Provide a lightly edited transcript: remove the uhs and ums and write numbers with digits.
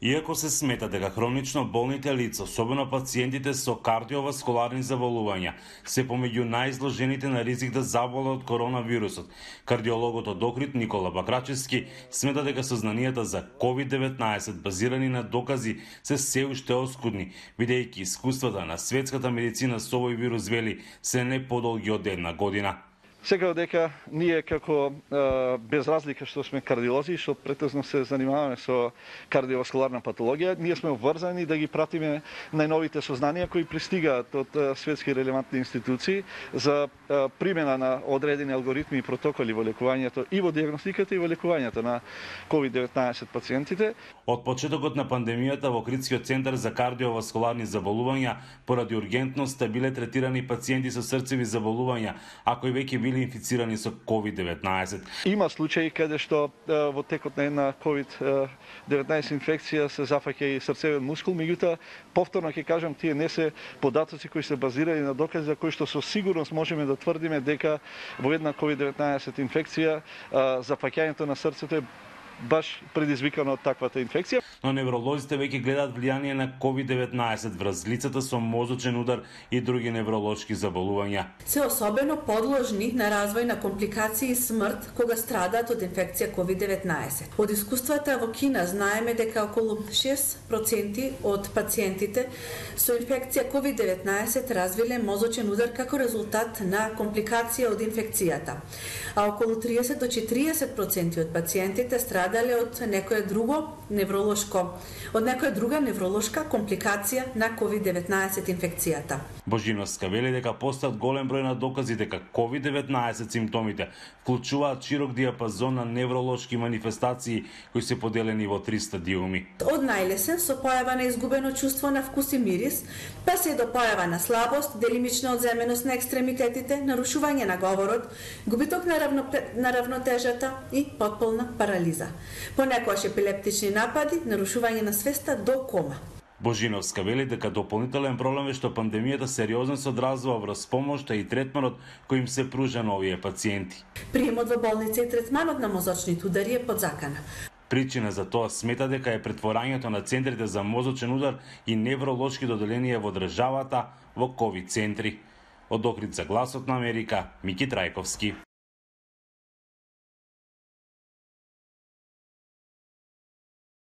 Иако се смета дека хронично болните лица, особено пациентите со кардиоваскуларни заболувања, се помеѓу најизложените на ризик да заболат од коронавирусот, кардиологот од Охрид Никола Бакрачевски смета дека сознанијата за COVID-19 базирани на докази се уште оскудни, бидејќи искуствата на светската медицина со овој вирус, вели, се не подолги од една година. Секако дека ние како без разлика што сме кардиолози, што претежно се занимаваме со кардиоваскуларна патологија, ние сме обврзани да ги пратиме најновите сознанија кои пристигаат од светски релевантни институции за примена на одредени алгоритми и протоколи во лекувањето и во дијагностиката и во лекувањето на COVID-19 пациентите. Од почетокот на пандемијата во Охридскиот центар за кардиоваскуларни заболувања поради ургентноста биле третирани пациенти со срцеви заболувања, а кои веќе били инфицирани со COVID-19. Има случаи каде што во текот на една COVID-19 инфекција се зафаќа и срцевен мускул, меѓутоа повторно ќе кажам, тие не се податоци кои се базирани на докази за кои што со сигурност можеме да тврдиме дека во една COVID-19 инфекција зафаќањето на срцето е баш предизвикано од таквата инфекција. Но невролозите веќе гледаат влијание на COVID-19 врз лицата со мозочен удар и други невролошки заболувања. Се особено подложни на развој на компликации и смрт кога страдаат од инфекција COVID-19. Од искуствата во Кина знаеме дека околу 6% од пациентите со инфекција COVID-19 развиле мозочен удар како резултат на компликација од инфекцијата, а околу 30 до 40% од пациентите страдале од некоја друга невролошка компликација на COVID-19 инфекцијата. Божиновска вели дека постојат голем број на докази дека COVID-19 симптомите вклучуваат широк диапазон на невролошки манифестации кои се поделени во 3 стадиуми. Од најлесен со појава на изгубено чувство на вкус и мирис, па се до појава на слабост, делимична одземеност на екстремитетите, нарушување на говорот, губиток на равнотежата и потполна парализа. Понекогаш епилептични напади, нарушување на свеста до кома. Божиновска вели дека дополнителен проблем е што пандемијата сериозно се одразува врз помошта и третманот кој им се пружа на овие пациенти. Приемот во болница и третманот на мозочните удари е подзакана. Причина за тоа смета дека е претворањето на центрите за мозочен удар и невролошки доделенија во државата во ковид центри. Од Охрид за Гласот на Америка, Мики Трајковски.